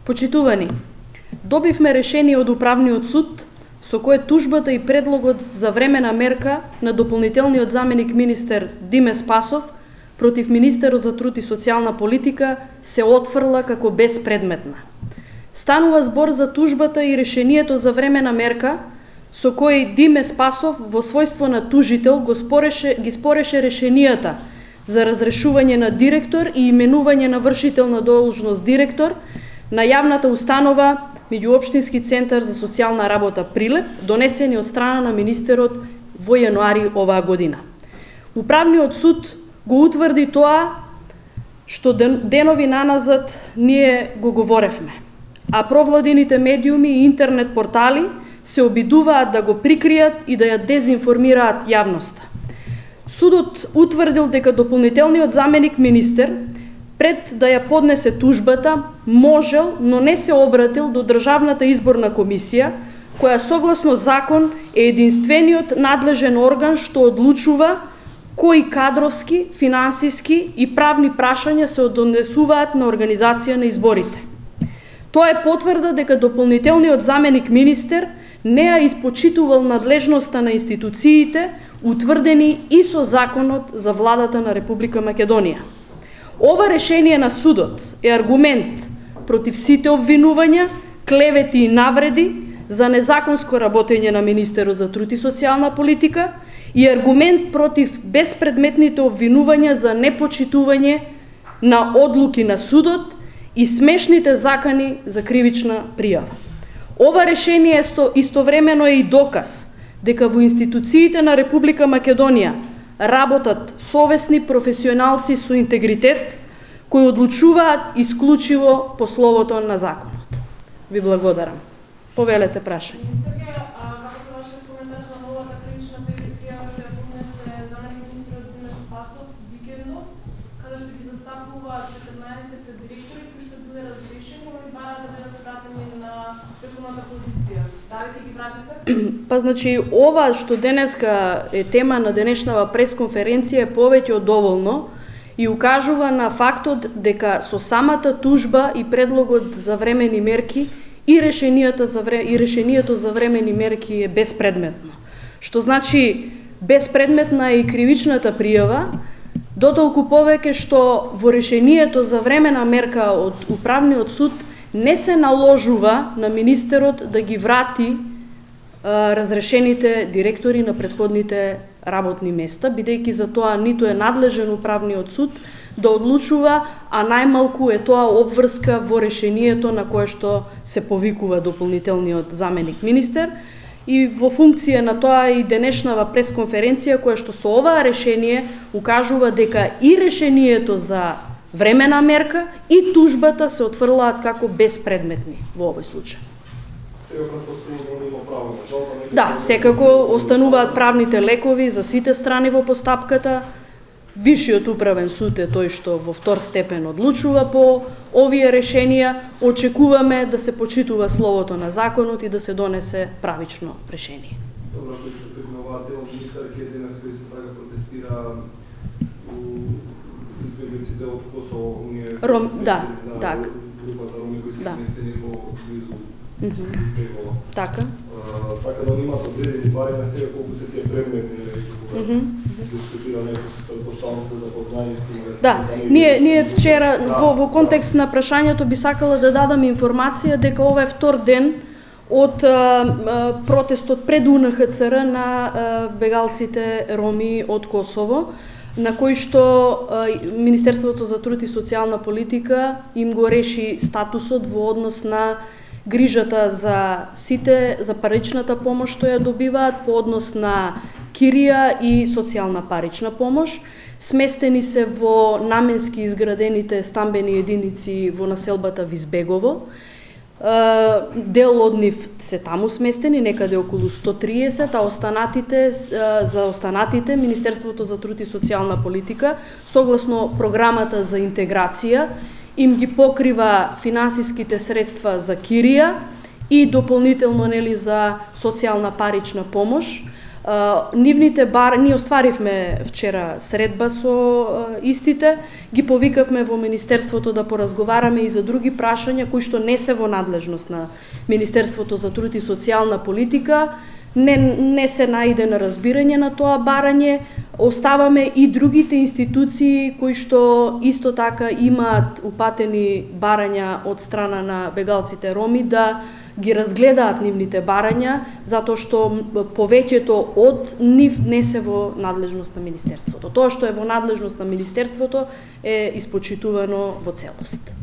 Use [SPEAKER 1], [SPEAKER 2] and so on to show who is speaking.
[SPEAKER 1] Почитувани, добивме решение од Управниот суд со кое тужбата и предлогот за времена мерка на дополнителниот заменик министер Диме Спасов против министерот за труд и социјална политика се отфрла како безпредметна. Станува збор за тужбата и решението за времена мерка со кој Диме Спасов во својство на тужител ги спореше решенијата за разрешување на директор и именување на вршител на должност директор на јавната установа Меѓуопштински центар за социјална работа Прилеп, донесени од страна на министерот во јануари оваа година. Управниот суд го утврди тоа што денови наназад ние го говоревме, а провладините медиуми и интернет портали се обидуваат да го прикријат и да ја дезинформираат јавноста. Судот утврдил дека дополнителниот заменик министер пред да ја поднесе тужбата, можел, но не се обратил до Државната изборна комисија, која согласно закон е единствениот надлежен орган што одлучува кои кадровски, финансиски и правни прашања се однесуваат на организација на изборите. Тоа е потврда дека дополнителниот заменик министер не ја испочитувал надлежноста на институциите утврдени и со законот за владата на Република Македонија. Ова решение на судот е аргумент против сите обвинувања, клевети и навреди за незаконско работење на министерот за труд и социјална политика и аргумент против безпредметните обвинувања за непочитување на одлуки на судот и смешните закани за кривична пријава. Ова решение истовремено е и доказ дека во институциите на Република Македонија работат совесни професионалци со интегритет кои одлучуваат исклучиво по словото на законот. Ви благодарам. Повелете прашање.
[SPEAKER 2] Министерке, како е вашиот коментар за новата кривична пријава што ја поднесе заменик министерот Диме Спасов викендот, каде што ги застапува 14 директори кои што биле разрешени, они бараат да бидат вратени на претходната позиција. Дали ќе ги вратите?
[SPEAKER 1] Па значи ова што денеска е тема на денешнава пресконференција е повеќе од доволно и укажува на фактот дека со самата тужба и предлогот за времени мерки и решението за времени мерки е безпредметно. Што значи безпредметна е и кривичната пријава, дотолку повеќе што во решението за времена мерка од Управниот суд не се наложува на министерот да ги врати разрешените директори на претходните работни места, бидејќи за тоа ниту е надлежен Управниот суд да одлучува, а најмалку е тоа обврска во решението на кое што се повикува дополнителниот заменик министер. И во функција на тоа и денешнава пресконференција која што со оваа решение укажува дека и решението за времена мерка и тужбата се отфрлаат како безпредметни во овој случај. Да, секако остануваат правните лекови за сите страни во постапката. Висшиот управен суд е тој што во втор степен одлучува по овие решенија. Очекуваме да се почитува словото на законот и да се донесе правично решение.
[SPEAKER 3] Добро, кој се пригнуваате од министерке денес кој се така протестира у избеглиците од Косово, оние
[SPEAKER 1] так.
[SPEAKER 3] Групата роми кои се сместени во близу избегова.
[SPEAKER 1] Така.
[SPEAKER 3] Така да имаат одредени бари на себе колку се тие предметни, кога дискутира некој поставност за познање с тим.
[SPEAKER 1] Да, ние вчера во контекст на прашањето би сакала да дадам информација дека ова е втор ден од протестот пред УНХЦР на бегалците роми од Косово, на кој што Министерството за труд и социјална политика им го реши статусот во однос на грижата за сите, за паричната помош што ја добиваат по однос на кирија и социјална парична помош. Сместени се во наменски изградените стамбени единици во населбата Визбегово. Дел од нив се таму сместени, некаде околу 130, а за останатите Министерството за труд и социјална политика, согласно програмата за интеграција, им ги покрива финансиските средства за кирија и дополнително за социјална парична помош. Нивните ние остваривме вчера средба со истите, ги повикавме во Министерството да поразговараме и за други прашања кои што не се во надлежност на Министерството за труд и социјална политика. Не се најде на разбирање на тоа барање. Оставаме и другите институции кои што исто така имаат упатени барања од страна на бегалците роми да ги разгледаат нивните барања, затоа што повеќето од нив не се во надлежност на Министерството. Тоа што е во надлежност на Министерството е испочитувано во целост.